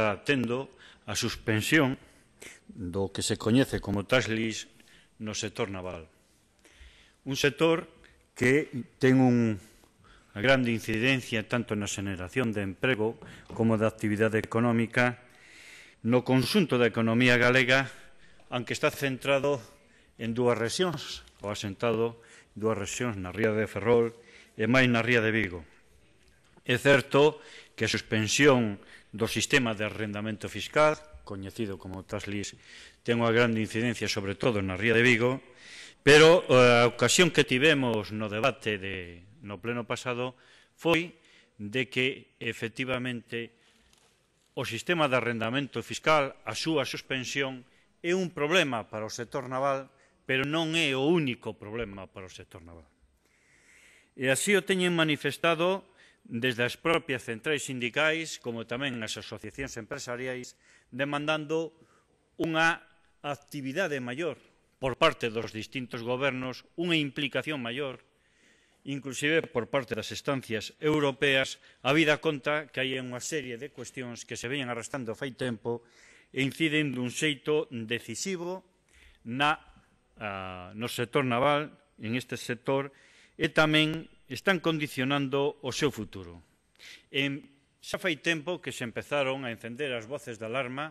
está tendo a suspensión do que se coñece como tax lease no sector naval. Un sector que ten unha grande incidencia tanto na xeneración de emprego como da actividade económica no conxunto da economía galega, aunque está centrado en dúas rexións, ou asentado en dúas rexións, na ría de Ferrol e máis na ría de Vigo. É certo que a suspensión do sistema de arrendamento fiscal, coñecido como tax lease, ten unha grande incidencia sobre todo na ría de Vigo, pero a ocasión que tivemos no debate no pleno pasado foi de que, efectivamente, o sistema de arrendamento fiscal, a súa suspensión, é un problema para o sector naval, pero non é o único problema para o sector naval. E así o teñen manifestado desde as propias centrais sindicais, como tamén as asociacións empresariais, demandando unha actividade maior por parte dos distintos gobernos, unha implicación maior, inclusive por parte das instancias europeas, habida conta que hai unha serie de cuestións que se veñen arrastrando fai tempo e inciden dun xeito decisivo no sector naval, en este sector, e tamén están condicionando o seu futuro. Xa fai tempo que se empezaron a encender as voces de alarma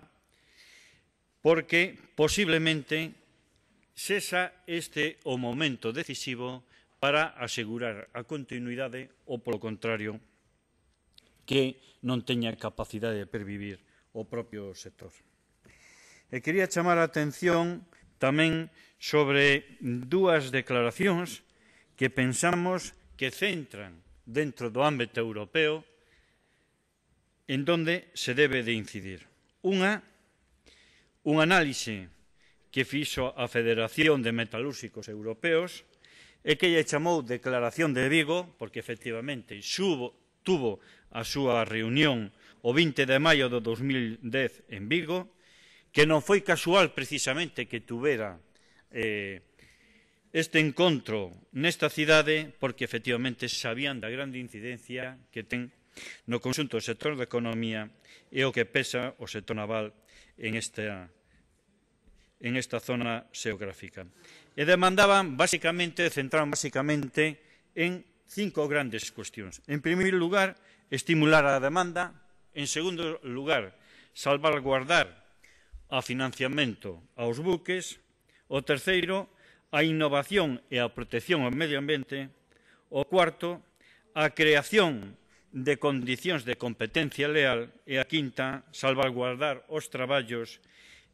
porque posiblemente sexa este o momento decisivo para asegurar a continuidade ou, polo contrario, que non teña capacidade de pervivir o propio sector. E quería chamar a atención tamén sobre dúas declaracións que pensamos que centran dentro do ámbito europeo en donde se debe de incidir. Un análise que fixo a Federación de Metalúrxicos Europeos e que lle chamou Declaración de Vigo, porque efectivamente tuvo a súa reunión o 20 de maio do 2010 en Vigo, que non foi casual precisamente que tuvera este encontro nesta cidade, porque efectivamente sabían da grande incidencia que ten no conxunto do sector da economía e o que pesa o sector naval en esta zona xeográfica. E demandaban, centraban basicamente en 5 grandes cuestións. En primeiro lugar, estimular a demanda. En segundo lugar, salvaguardar o financiamento aos buques. O terceiro, a innovación e a protección ao medio ambiente. O cuarto, a creación de condicións de competencia leal. E a quinta, salvaguardar os traballos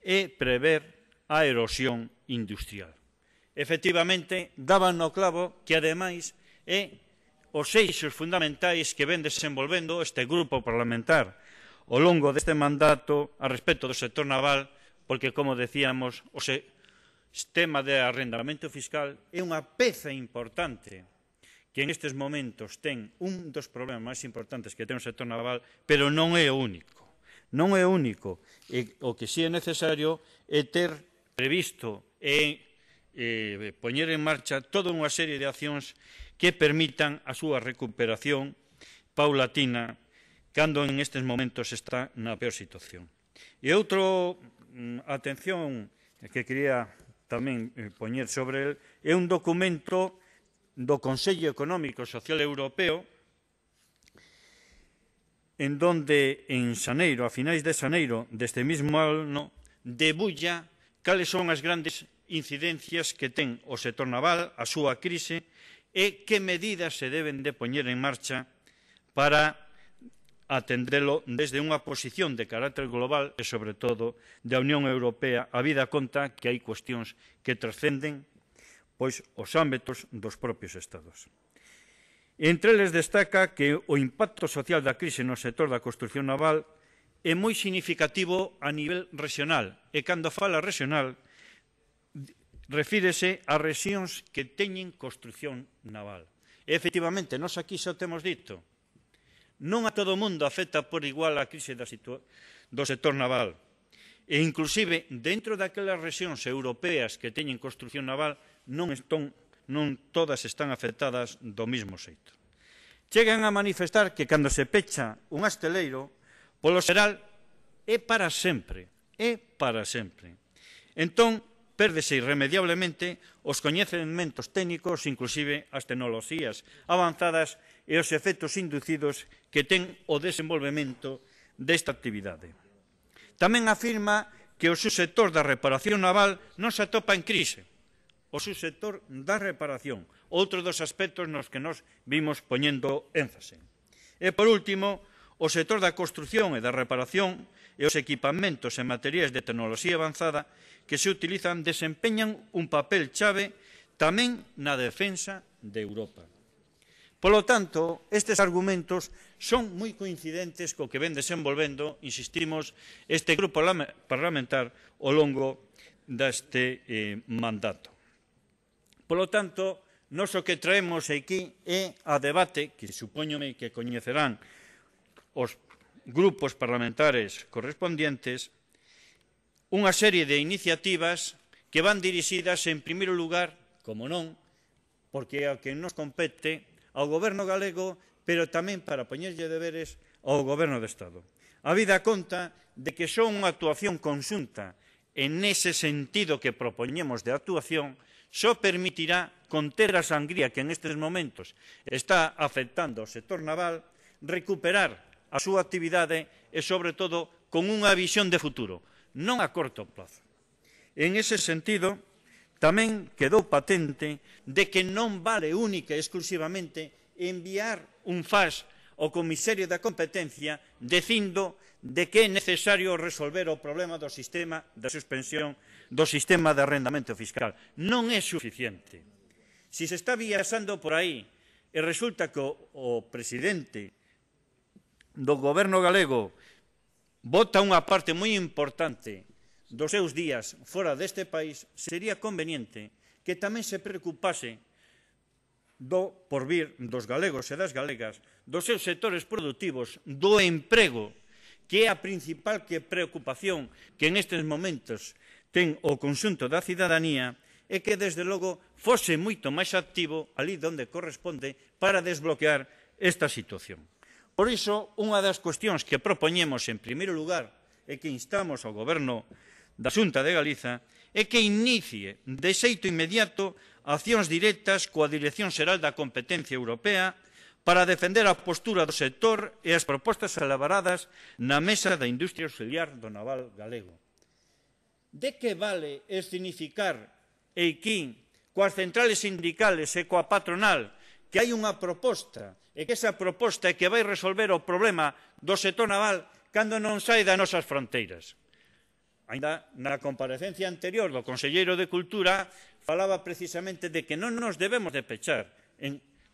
e prever a erosión industrial. Efectivamente, daban no clavo que, ademais, é os eixos fundamentais que ven desenvolvendo este grupo parlamentar ao longo deste mandato a respecto do sector naval, porque, como decíamos, o sistema de arrendamento fiscal é unha peza importante que en estes momentos ten un dos problemas máis importantes que ten o sector naval, pero non é o único. Non é o único. O que si é necesario é ter previsto e poñer en marcha toda unha serie de accións que permitan a súa recuperación paulatina cando en estes momentos está na peor situación. E outra atención que quería tamén poñer sobre el é un documento do Consello Económico e Social Europeo en donde en xaneiro, a finais de xaneiro deste mesmo ano, debulla cales son as grandes incidencias que ten o sector naval, a súa crise, e que medidas se deben de poñer en marcha para atendelo desde unha posición de carácter global e, sobre todo, da Unión Europea, habida conta que hai cuestións que trascenden os ámbitos dos propios Estados. Entre eles destaca que o impacto social da crise no sector da construción naval é moi significativo a nivel regional, e cando fala regional refírese a rexións que teñen construción naval. E, efectivamente, nós aquí xa o temos dito, non a todo o mundo afecta por igual a crise do sector naval. E, inclusive, dentro daquelas rexións europeas que teñen construción naval, non todas están afectadas do mesmo xeito. Chegan a manifestar que cando se pecha un asteleiro, polo xeral, é para sempre, é para sempre. Entón, pérdese irremediablemente os coñecementos técnicos, inclusive as tecnoloxías avanzadas e os efectos inducidos que ten o desenvolvemento desta actividade. Tamén afirma que o subsector da reparación naval non se atopa en crise. O subsector da reparación, outro dos aspectos nos que nos vimos poñendo énfase. E, por último, o sector da construción e da reparación e os equipamentos e materiais de tecnoloxía avanzada que se utilizan desempeñan un papel chave tamén na defensa de Europa. Polo tanto, estes argumentos son moi coincidentes co que ven desenvolvendo, insistimos, este grupo parlamentar ao longo deste mandato. Polo tanto, nós o que traemos aquí é a debate, que supoñome que coñecerán os grupos parlamentares correspondientes, unha serie de iniciativas que van dirixidas, en primeiro lugar, como non, porque é o que nos compete, ao Goberno galego, pero tamén para poñerlle deberes ao Goberno do Estado. A vida conta de que son unha actuación conxunta en ese sentido que propoñemos de actuación, só permitirá conter a sangría que en estes momentos está afectando ao sector naval, recuperar a súa actividade e, sobre todo, con unha visión de futuro, non a corto plazo. En ese sentido, tamén quedou patente de que non vale única e exclusivamente enviar un fax ao Comisario da Competencia dicindo de que é necesario resolver o problema do sistema da suspensión do sistema de arrendamento fiscal. Non é suficiente. Si se está viaxando por aí e resulta que o presidente do Goberno galego bota unha parte moi importante dos seus días fora deste país, sería conveniente que tamén se preocupase do porvir dos galegos e das galegas, dos seus sectores productivos, do emprego, que é a principal preocupación que en estes momentos ten o conxunto da cidadanía, e que, desde logo, fose moito máis activo ali onde corresponde para desbloquear esta situación. Por iso, unha das cuestións que propoñemos en primeiro lugar e que instamos ao Goberno da Xunta de Galiza é que inicie de xeito inmediato accións directas coa Dirección Xeral da Competencia Europea para defender a postura do sector e as propostas elaboradas na Mesa da Industria Auxiliar do Naval galego. De que vale escenificar eiquín coas centrales sindicales e coa patronal que hai unha proposta e que esa proposta é que vai resolver o problema do sector naval cando non sai das nosas fronteiras? Ainda na comparecencia anterior do Conselleiro de Cultura falaba precisamente de que non nos debemos de pechar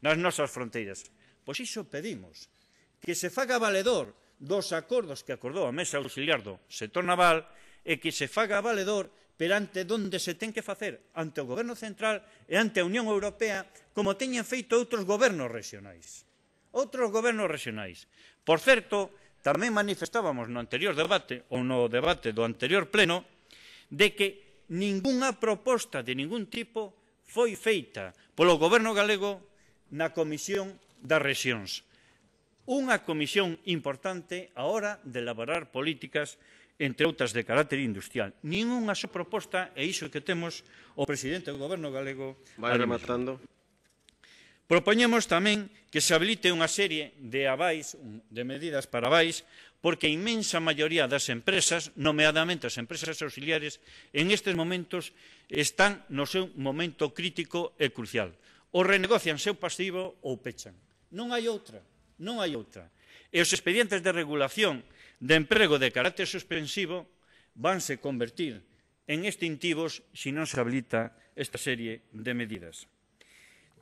nas nosas fronteiras. Pois iso pedimos, que se faga valedor dos acordos que acordou a Mesa Auxiliar do sector naval e que se faga valedor perante onde se ten que facer, ante o Goberno Central e ante a Unión Europea, como teñen feito outros gobernos regionais. Outros gobernos regionais. Por certo, tamén manifestábamos no anterior debate, ou no debate do anterior pleno, de que ningunha proposta de ningún tipo foi feita polo Goberno galego na Comisión das Rexións. Unha comisión importante a hora de elaborar políticas, entre outras de carácter industrial. Ningunha só proposta, e iso que temos o presidente do Goberno galego. Vai rematando. Propoñemos tamén que se habilite unha serie de avais, de medidas para avais, porque a inmensa maioría das empresas, nomeadamente as empresas auxiliares, en estes momentos están no seu momento crítico e crucial. Ou renegocian seu pasivo ou pechan. Non hai outra, non hai outra. E os expedientes de regulación de emprego de carácter suspensivo vanse convertir en extintivos se non se habilita esta serie de medidas.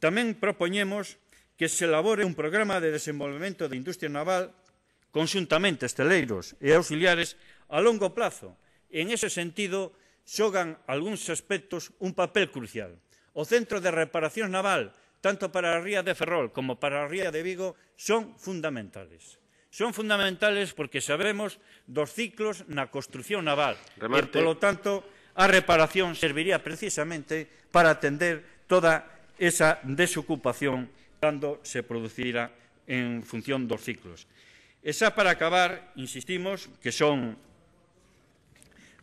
Tamén propoñemos que se elabore un programa de desenvolvemento de industria naval conxuntamente esteleiros e auxiliares a longo plazo. En ese sentido, xogan algúns aspectos un papel crucial. O Centro de Reparación Naval, tanto para a ría de Ferrol como para a ría de Vigo, son fundamentales. Son fundamentales porque sabemos dos ciclos na construción naval. Remate. E, polo tanto, a reparación serviría precisamente para atender toda esa desocupación cando se producirá en función dos ciclos. E xa para acabar, insistimos que son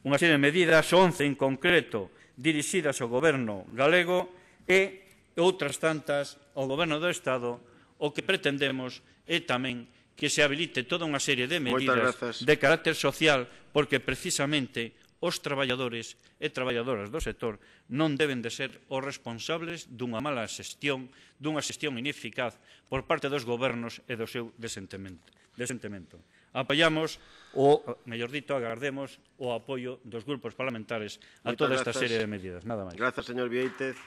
unha serie de medidas, 11 en concreto, dirixidas ao Goberno galego e outras tantas ao Goberno do Estado. O que pretendemos é tamén que se habilite toda unha serie de medidas de carácter social, porque precisamente os traballadores e traballadoras do sector non deben de ser os responsables dunha mala xestión, dunha xestión ineficaz por parte dos gobernos e do seu desentemento. Apoiamos, ou, mellor dito, agardemos o apoio dos grupos parlamentares a toda esta serie de medidas. Nada máis. Grazas, señor Viéitez.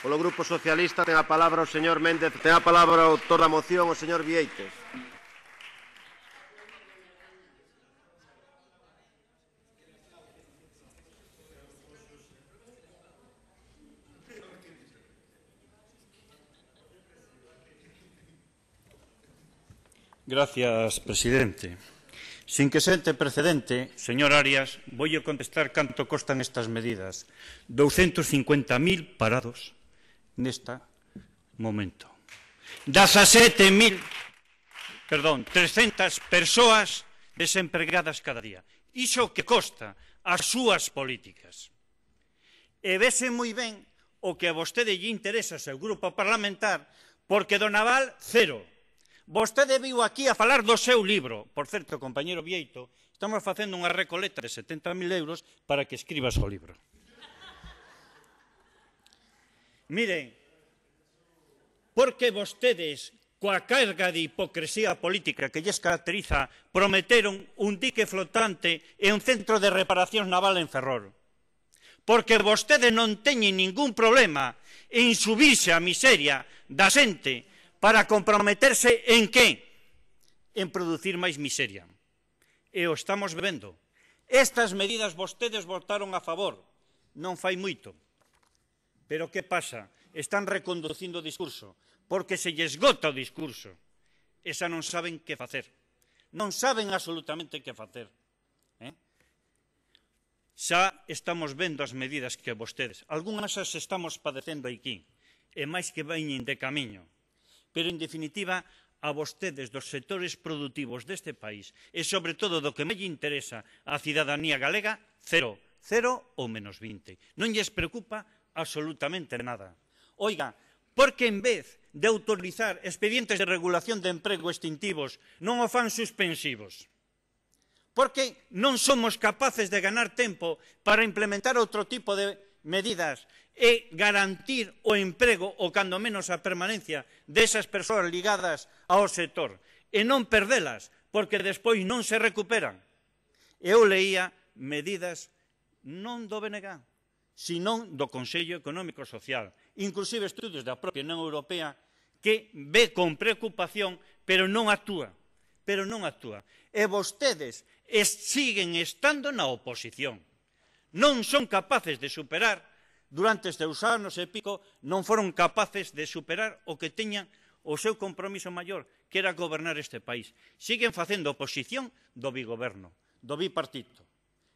Polo Grupo Socialista ten a palabra o señor Méndez, ten a palabra o autor da moción, o señor Viéitez. Gracias, presidente. Sin que sente precedente, señor Arias, voulle contestar canto costan estas medidas. 250.000 parados neste momento. 300 persoas desempregadas cada día. Iso que costa as súas políticas. E vese moi ben o que a vostede lle interesa ao seu grupo parlamentar, porque do naval, cero. Vostede viu aquí a falar do seu libro. Por certo, compañero Vieito, estamos facendo unha recoleta de 70.000 euros para que escribas o libro. Miren, porque vostedes, coa carga de hipocresía política que lles caracteriza, prometeron un dique flotante e un centro de reparación naval en Ferrol. Porque vostedes non teñen ningún problema en subirse á miseria da xente para comprometerse en que? En producir máis miseria. E o estamos vendo. Estas medidas vostedes votaron a favor. Non fai moito. Pero que pasa? Están reconducindo o discurso. Porque se lles esgota o discurso. Esa non saben que facer. Non saben absolutamente que facer. Xa estamos vendo as medidas que vostedes. Algúnas as estamos padecendo aquí. E máis que veñen de camiño. Pero, en definitiva, a vostedes dos sectores productivos deste país e, sobre todo, do que me interesa a cidadanía galega, cero ou menos 20. Non lles preocupa absolutamente nada. Oiga, porque en vez de autorizar expedientes de regulación de emprego extintivos non o fan suspensivos? Porque non somos capaces de ganar tempo para implementar outro tipo de medidas e garantir o emprego ou, cando menos, a permanencia desas persoas ligadas ao sector e non perdelas, porque despois non se recuperan. Eu leía medidas non do BNG, senón do Consello Económico e Social, inclusive estudios da propia Unión Europea, que ve con preocupación, pero non actúa. E vostedes siguen estando na oposición. Non son capaces de superar, durante estes anos e pico, non foron capaces de superar o que teñan o seu compromiso maior, que era gobernar este país. Siguen facendo oposición do bigoberno, do bipartito.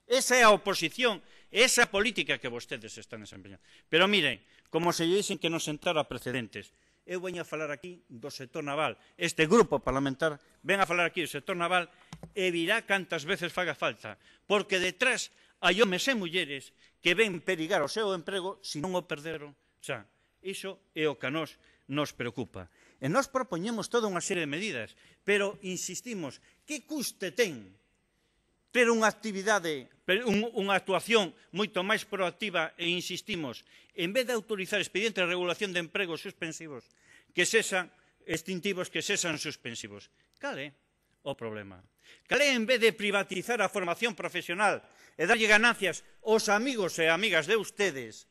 Esa é a oposición, esa é a política que vostedes están desempeñando. Pero miren, como se lle dicen que non sentara precedentes, eu veño a falar aquí do sector naval. Este grupo parlamentar ven a falar aquí do sector naval e virá cantas veces faga falta, porque detrás hai homes e mulleres que ven perigar o seu emprego se non o perderon. Xa, iso é o que a nos preocupa. E nós propoñemos toda unha serie de medidas, pero insistimos, que custe ten ter unha actividade, unha actuación moito máis proactiva e insistimos, en vez de autorizar expedientes de regulación de empregos suspensivos, que sexan extintivos, que sexan suspensivos? Cal é o problema? Cal é, en vez de privatizar a formación profesional e darlle ganancias aos amigos e amigas de ustedes,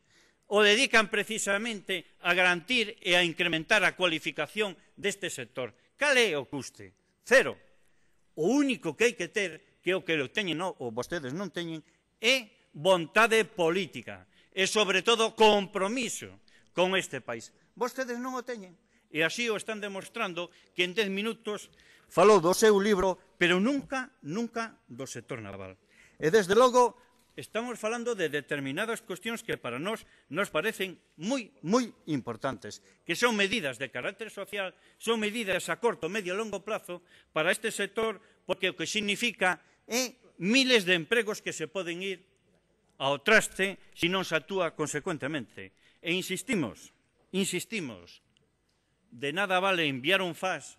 o dedican precisamente a garantir e a incrementar a cualificación deste sector? Cal é o custe? Cero. O único que hai que ter, que é o que teñen ou vostedes non teñen, é vontade política e, sobre todo, compromiso con este país. Vostedes non o teñen. E así o están demostrando que en 10 minutos falou do seu libro, pero nunca do sector naval. E, desde logo, estamos falando de determinadas cuestións que para nós nos parecen moi importantes, que son medidas de carácter social, son medidas a corto, medio e longo plazo para este sector, porque o que significa é miles de empregos que se poden ir ao traste se non se actúa consecuentemente. E insistimos, de nada vale enviar un FAS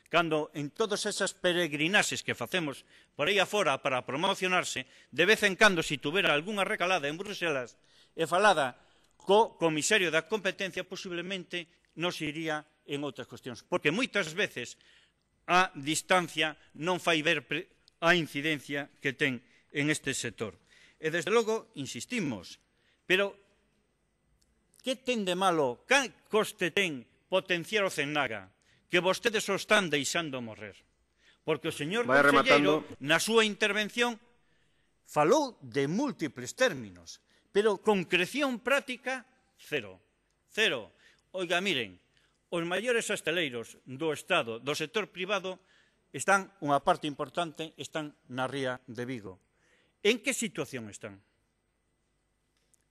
cando en todas esas peregrinaxes que facemos por aí afora para promocionarse, de vez en cando, se tuvera algunha recalada en Bruselas e falada co comisario da competencia, posiblemente nos iría en outras cuestións. Porque moitas veces a distancia non fai ver a incidencia que ten en este sector. E, desde logo, insistimos, pero que ten de malo, que coste ten potenciar o CENAGA, que vostedes o están deixando morrer? Porque o señor conselleiro, na súa intervención, falou de múltiples términos, pero concreción práctica, cero. Oiga, miren, os maiores hosteleiros do Estado, do sector privado, están, unha parte importante, están na ría de Vigo. En que situación están?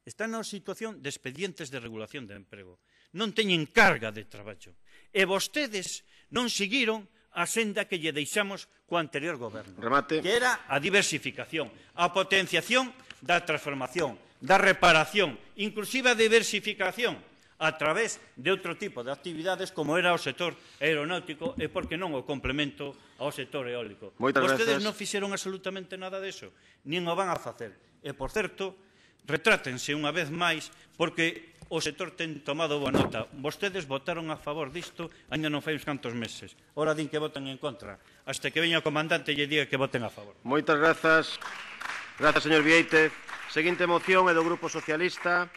Están na situación de expedientes de regulación de emprego. Non teñen carga de traballo. E vostedes non seguiron a senda que lle deixamos co anterior goberno. Remate. Que era a diversificación, a potenciación da transformación, da reparación, inclusive a diversificación a través de outro tipo de actividades como era o sector aeronáutico e, por que non, o complemento ao sector eólico. Vostedes non fixeron absolutamente nada diso, nin o van a facer. E, por certo, retrátense unha vez máis porque o sector ten tomado boa nota. Vostedes votaron a favor disto ainda non fai uns cantos meses. Ora din que votan en contra. Hasta que veña o comandante e lle diga que voten a favor. Moitas grazas. Grazas, señor Vieite. Seguinte moción é do Grupo Socialista.